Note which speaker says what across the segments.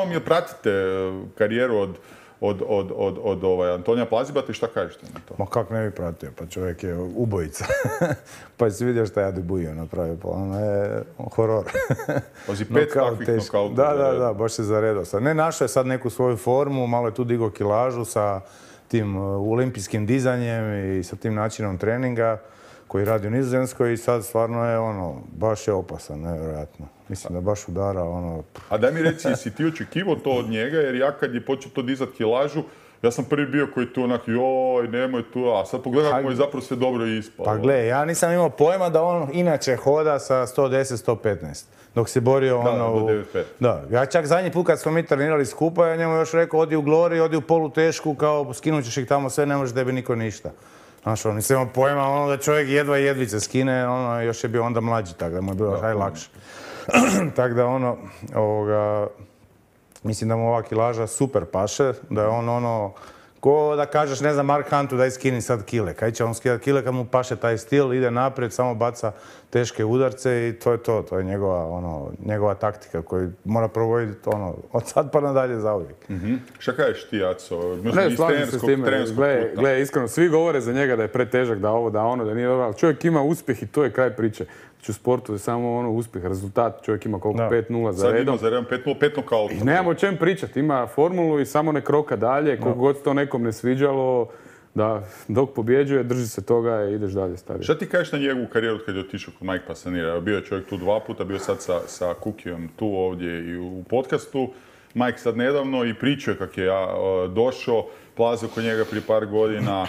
Speaker 1: Mi pratite karijeru od Antonija Plazibata i šta kažete na to?
Speaker 2: Ma kak ne bi pratio, pa čovjek je ubojica. Pa si vidio šta je Adegbuyo napravio, pa ono je horor.
Speaker 1: Pazi, 5 takvih nokauta.
Speaker 2: Da, baš se zaredao. Ne, našao je sad neku svoju formu, malo je tu digao kilažu sa tim olimpijskim dizanjem i sa tim načinom treninga koji radi u Nizozemskoj i sad stvarno je baš je opasan, nevjerojatno. Mislim da baš udara
Speaker 1: A daj mi reci, jesi ti očekivao to od njega, jer ja kad je počeo to dizat kilažu, ja sam prvi bio koji tu onak, joj, nemoj tu, a sad pogledam kako mu je zapravo sve dobro ispalo.
Speaker 2: Pa gle, ja nisam imao pojma da on inače hoda sa 110-115. Dok se borio
Speaker 1: do 9.5.
Speaker 2: Da, ja čak zadnji put kad smo mi trenirali skupa, ja njemu još rekao, odi u Glori, odi u polutešku, kao skinut ćeš ih tamo sve, ne može tebi niko ništa. Znaš, nisam imao pojma da čovjek jedvice skine, još je bio onda mlađi, tako da mu je bilo najlakše. Tako da mislim da mu ova kilaža super paše, da je ko da kažeš, ne znam, Mark Huntu daj skini sad kile. Kaj će on skidati kile kad mu paše taj stil, ide naprijed, samo baca teške udarce i to je to. To je njegova taktika koju mora provoditi od sad pa nadalje zauvijek.
Speaker 1: Šta kažeš ti, Aco?
Speaker 3: Ne, slažem se s time. Gle, iskreno, svi govore za njega da je pretežak, da ovo, da nije dobro. Čovjek ima uspjeh i to je kraj priče. U sportu je samo uspjeh, rezultat. Čovjek ima koliko? 5-0 za redom.
Speaker 1: Sad ima za redom 5-0 nokauta.
Speaker 3: I nemamo o čem pričati. Ima formulu i samo ne kroka dalje. Koliko god to nekom ne sviđalo, da dok pobjeđuje, drži se toga i ideš dalje staviti.
Speaker 1: Šta ti kažeš na njegovu karijeru kad je otišao kod Mike Passanera? Bio je čovjek tu 2 puta, bio sad sa Kukijom tu ovdje i u podcastu. Mike sad nedavno i pričao je kako je došao, plazio kod njega prije par godina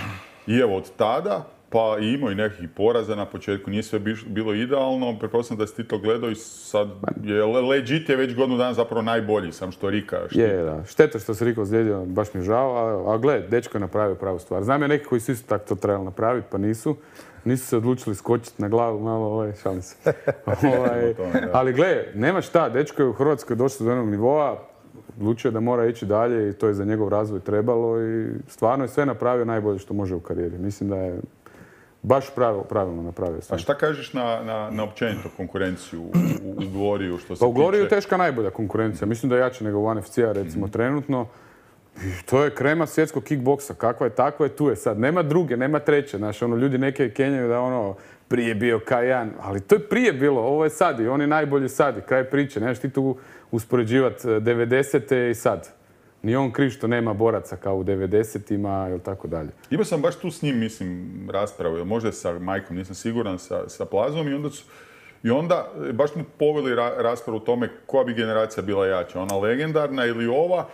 Speaker 1: i evo od tada, pa i imao i nekih poraza na početku, nije sve bilo idealno, pretpostavljam da si ti to gledao i sad je legit je već godinu dana zapravo najbolji, sam što Rika.
Speaker 3: Je, da. Šteta što se Riko ozlijedio, baš mi je žao, a gle, dečko je napravio pravu stvar. Znam ja neki koji su isto tako to trebali napraviti, pa nisu. Nisu se odlučili skočiti na glavu, malo, šalim se. Ali gle, nema šta, dečko je u Hrvatskoj došao do jednog nivoa, odlučio je da mora ići dalje i to je za njegov razvoj trebalo i stvarno je sve napravio najbolje što može u karijeri. Mislim da je baš pravilno napravio sam.
Speaker 1: A šta kažeš na općenito konkurenciju u Gloriju što se tiče?
Speaker 3: Pa u Gloriju je teška najbolja konkurencija. Mislim da je jače nego u NFC-a recimo trenutno. I to je krema svjetskog kickboksa. Kakva je, takva je, tu je sad. Nema druge, nema treće. Znaš, ljudi neke kenjaju da prije bio K1, ali to je prije bilo, ovo je sad i on je najbolji sad i kraj priče. Nemaš ti tu uspoređivati 90. i sad. Ni on kriv što nema boraca kao u 90-ima ili tako dalje.
Speaker 1: Imao sam baš tu s njim, mislim, raspravu, možda sa Majkom, nisam siguran, sa Plazom i onda baš smo poveli raspravu o tome koja bi generacija bila jača, ona legendarna ili ova.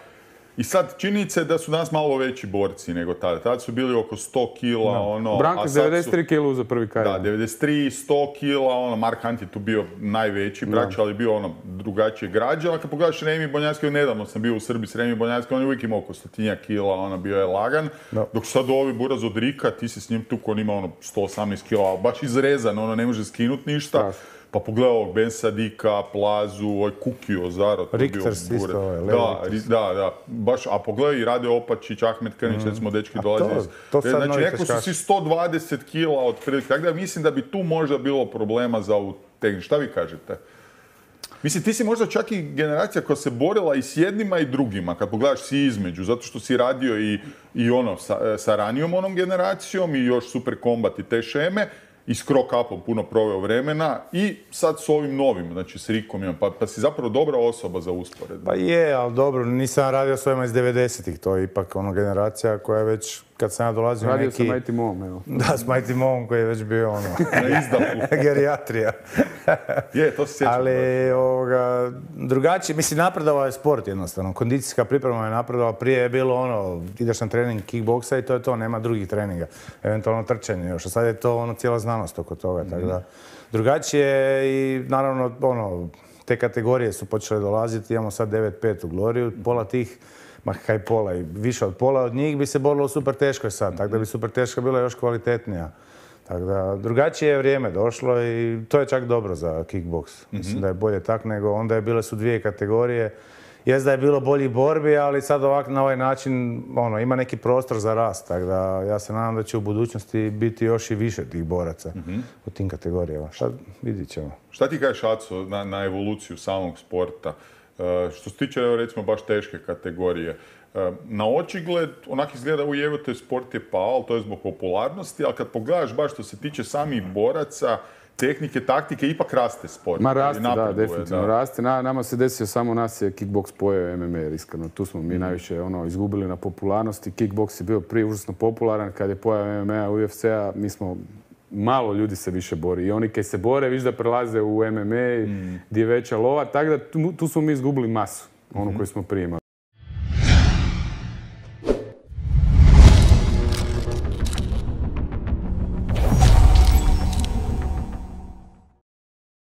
Speaker 1: I sad činjenica je da su danas malo veći borci nego tada. Tada su bili oko 100 kila,
Speaker 3: Branko je 93 kila za prvi karijer.
Speaker 1: Da, 93, 100 kila, Mark Hunt je tu bio najveći brač, ali bio drugačije građe. Ali kad pogledaš Remi Bonjacki, nedavno sam bio u Srbiji s Remi Bonjacki, on je uvijek imao oko 100 kila, bio je lagan. Dok sad ovi buraz od Rika, ti si s njim tu, on ima 118 kila, baš izrezan, ne može skinuti ništa. Pa pogledaj ovog Ben Sadika, Plazu, Kukio, Zaro.
Speaker 2: Richters isto,
Speaker 1: Da. Baš, a pogledaj i Rade Opačić, Ahmed Krnić, recimo dečki dolaze. Znači, neko su si 120 kila otprilike. Tako da mislim da bi tu možda bilo problema za ovu tehniku. Šta vi kažete? Mislim, ti si možda čak i generacija koja se borila i s jednima i drugima, kad pogledaš si između, zato što si radio i sa ranijom onom generacijom i još Super Combat i te šeme, i s Krokapom puno proveo vremena i sad s ovim novim, znači s Rikom imam, pa si zapravo dobra osoba za usporedbu.
Speaker 2: Pa je, ali dobro, nisam radio s ovima iz 90-ih, to je ipak generacija koja je već, kad sam ja dolazio
Speaker 3: radio neki... Radio sa Mighty Moom, evo.
Speaker 2: Da, s Mighty Moom koji je već bio
Speaker 1: na izdahu.
Speaker 2: Gerijatrija.
Speaker 1: Je, to se sjećam.
Speaker 2: Ali, drugačije, mislim, napredovao je sport jednostavno, kondicijska priprema je napredovala, prije je bilo ideš na trening kickboksa i to je to, nema drugih treninga, eventualno trčanje još, a sad je to cijela znanost oko toga, tako da drugačije i naravno, te kategorije su počele dolaziti, imamo sad 9-5 u Gloriju, pola tih, kaj pola i više od pola od njih bi se borilo u super teškoj sad, tako da bi super teška bila još kvalitetnija. Tako da, drugačije je vrijeme došlo i to je čak dobro za kickboks. Mislim da je bolje tak nego onda bile su 2 kategorije jest da je bilo boljih borbi, ali sad ovako na ovaj način ima neki prostor za rast, tako da ja se nadam da će u budućnosti biti još i više tih boraca u tim kategorijama. Šta vidit ćemo.
Speaker 1: Šta ti kažeš, Aco, na evoluciju samog sporta? Što se tiče, recimo, baš teške kategorije, na očigled onak izgleda ujevite sport je pao, ali to je zbog popularnosti, ali kad pogledaš baš što se tiče samih boraca, tehnike, taktike, ipak raste sport.
Speaker 3: Ma raste, da, definitivno raste. Nama se desio, samo nas je kickboks pojeo MMA, iskreno. Tu smo mi najviše izgubili na popularnosti. Kickboks je bio prije užasno popularan, kad je pojeo MMA, UFC-a, mi smo malo ljudi se više bori. I oni koji se bore, viš da prelaze u MMA, gdje je veća lova. Tako da tu smo mi izgubili masu, onu koju smo prije imali.